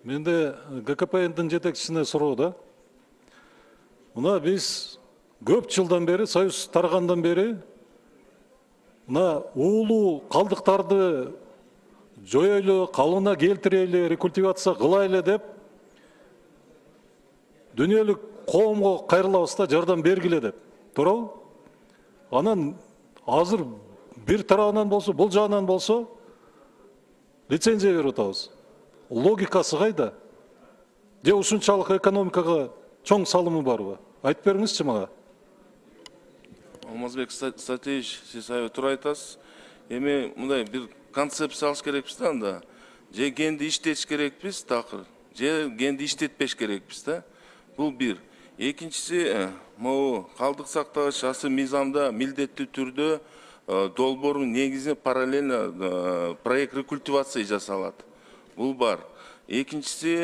Менде ГКПНдин жетекчисине суроо да. Мына биз көп жылдан бери, Союз таргандан бери, мына уулуу калдыктарды жоёйлу, калыбына келтирели, рекультивация кылайлы деп дүйнөлүк коомго кайрылабыз да, жардам бергиле деп. Туурабы? Анан азыр бир тарабынан болсо, бул жагынан болсо лицензия берип атабыз. Логикасы кайда? Же ушунчалык экономикага чоң салымы барбы? Айтып бериңизчи мага. Алмазбек Сатеевич, сиз туура айтасыз. Эми мындай бир концепция алыш керекпиз да анда. Же генди иштетиш керекпиз, такыр, же генди иштетпеш керекпиз да. Бул бир. Экинчиси, могу калдык сактагыч асы мыйзамда милдеттүү түрдө долбоордун негизинде параллельно проект рекультивация жасалат. Бул бар. Экинчиси,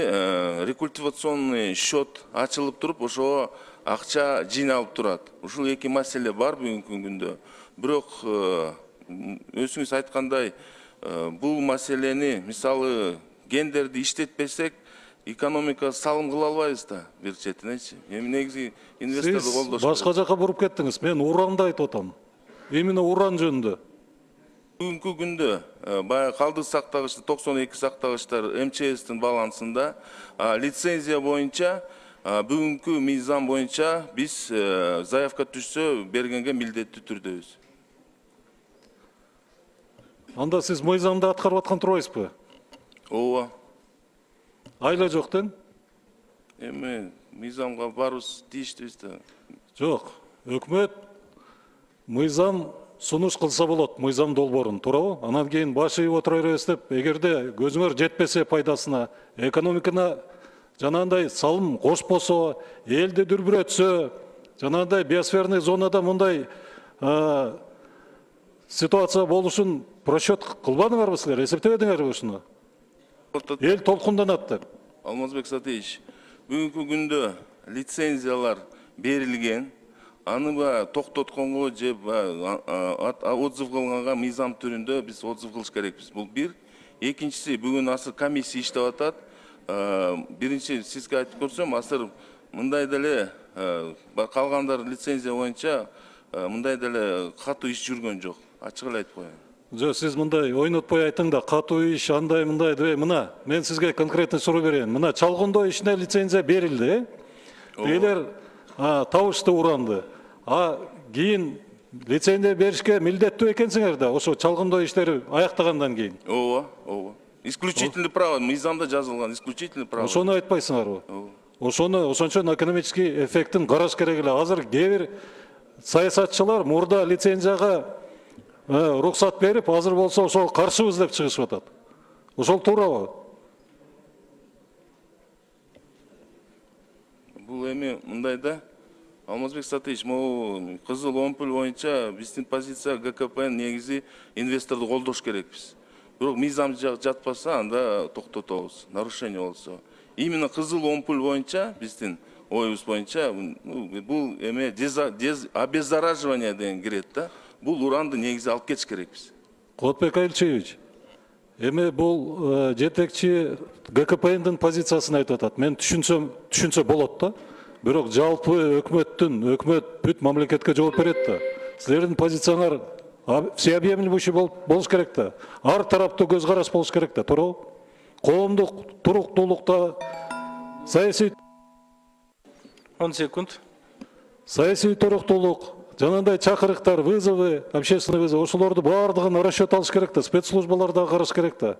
рекультивационный счет ачылып туруп, ошого акча жыйналып турат. Ушул эки маселе бар бүгүнкү күндө. Бирок өзүңүз айткандай, бул маселени, мисалы, гендерди иштетпесек, экономика салым кыла албайбыз да, бир четинечи. Эми негизи инвесторду колдош. Сиз башка жака буруп кеттиңиз. Мен уранды айтып атам. Именно уран жөнүндө. Бүгүнкү күндө баягы калдык сактагычты 92 сактагычтар МЧСтин балансында, лицензия боюнча бүгүнкү мыйзам боюнча биз заявка түшсө бергенге милдеттүү түрдөбүз. Анда сиз мыйзамды аткарып аткан турбайсызбы? Ооба. Айла жок ден? Эми мыйзамга барыбыз тийиштүүбүз да. Жок. Өкмөт мыйзам сунуш кылса болот, мыйзам долбоорун, туурабы? Анан кийин баш ийип отура беребиз деп, эгерде көзүңөр жетпесе пайдасына, экономикана жанагындай салым кошпосо, элди дүрбүрөтсө, жанагындай биосферный зонада мындай ситуация болушун просчет кылбадыңарбы силер? Эсептебедиңерби ушуну? Эл толкунданат деп. Алмазбек Сатеевич, бүгүнкү күндө лицензиялар берилген, аны токтотконго же отзыв кылганга мыйзам түрүндө биз отзыв кылыш керекпиз. Бул бир. Экинчиси, бүгүн азыр комиссия иштеп атат. Биринчи сизге айтып көрсөм, азыр мындай деле калгандар лицензия боюнча мындай деле катуу иш жүргөн жок. Ачык эле айтып коеюн. Жок, сиз мындай ойнотпой айтың да, катуу иш андай мындай дебей, мына мен сизге конкретный суроо берейин. Мына чалгындоо ишине лицензия берилди. Элер табышты уранды. Кийин лицензия беришке милдеттүү экенсиңер да, ошо чалгындоо иштери аяктагандан кийин. Ооба. Исключительный право, мыйзамда жазылган исключительный право. Ошону айтпайсыңарбы? Ошону ошончо экономический эффектин караш керек эле. Азыр кээ бир саясатчылар мурда лицензияга руксат берип, азыр болсо ошого каршыбыз деп чыгышып атат. Ошол туурабы? Бул эми мындай да, Алмазбек Сатеевич, могу кызыл омпуль боюнча биздин позиция ГКП негизи инвесторду колдош керекпиз. Бирок мыйзам жатпаса, анда токтотобуз, нарушение болсо. Именно кызыл омпуль боюнча биздин оюбуз боюнча бул эме обеззараживание деген кирет да. Бул уранды негизи алып кетиш керекпиз. Кулатбек Айлчевич, эми бул жетекчи ГКПНдин позициясын айтып атат. Мен түшүнсө болот да. Бирок жалпы өкмөт бүт мамлекетке жооп берет да. Силердин позицияңар всеобъемлющий болуш керек да. Ар тараптуу көз караш болуш керек да, туурабы? Коомдук туруктуулукта саясий 10 секунд. Саясий туруктуулук, жанагындай чакырыктар, вызовы, общественный вызов, ошолорду баардыгын расчет алыш керек да, спецслужбалар да караш керек да.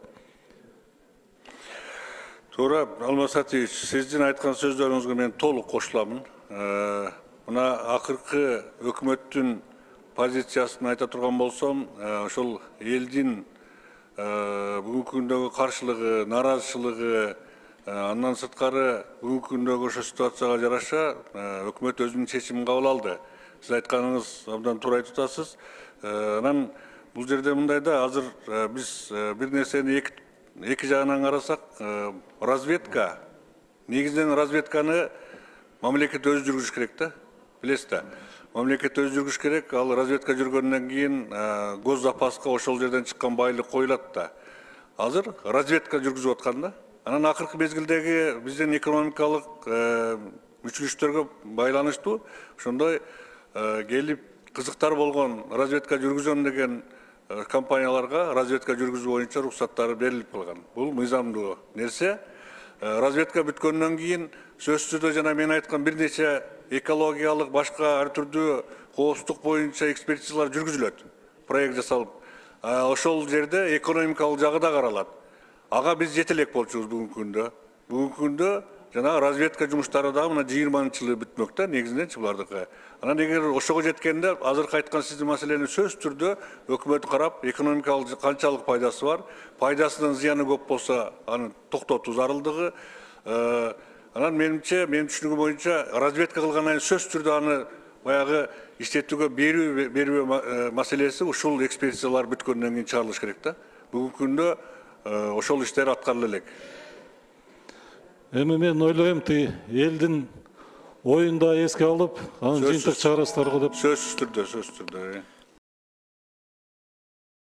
Туура, Алмаз Сатеевич, сиздин айткан сөздөрүңүзгө мен толук кошуламын. Мына акыркы өкмөттүн позициясын айта турган болсом, ошол элдин бүгүнкү күндөгү каршылыгы, наразычылыгы, андан сырткары бүгүнкү күндөгү ошо ситуацияга жараша өкмөт өзүнүн чечимин кабыл алды. Сиз айтканыңыз абдан туура айтып атасыз. Анан бул жерде мындай да, азыр биз бир нерсени эки жагынан карасак, разведка, негизинен разведканы мамлекет өзү жүргүзүш керек да, билесиз да. Мамлекет өзү жүргүзүш керек, ал разведка жүргөндөн кийин гос запаска ошол жерден чыккан байлык коюлат да. Азыр разведка жүргүзүп аткан да. Анан акыркы мезгилдеги биздин экономикалык мүчүлүштөргө байланыштуу ошондой келип кызыктар болгон разведка жүргүзөм деген компанияларга разведка жүргүзүү боюнча уруксаттары берилип калган. Бул мыйзамдуу нерсе. Разведка бүткөндөн кийин сөзсүз түрдө жана мен айткан бир нече экологиялык башка ар түрдүү коопсуздук боюнча экспертизалар жүргүзүлөт. Проект жасалып, ошол жерде экономикалык жагы да каралат. Ага биз жете элек болчубуз бүгүнкү күндө. Бүгүнкү күндө жана разведка жумуштары да мына 20-жылы бүтмөк да негизиненчи булардыкы. Анан эгер ошого жеткенде азыркы айткан сиздин маселени сөзсүз түрдө өкмөт карап, экономикалык канчалык пайдасы бар, пайдасынан зыяны көп болсо аны токтотуу зарылдыгы. Анан менимче, менин түшүнүгүм боюнча разведка кылгандан кийин сөзсүз түрдө аны баягы иштетүүгө берүү маселеси ушул экспертизалар бүткөндөн кийин чыгарылыш керек да. Бүгүнкү күндө ошол иштер аткарыла элек. Эми мен ойлойм, элдин оюн да эске алып, анан жыйынтык чыгарасыздар го деп. Сөзсүз түрдө.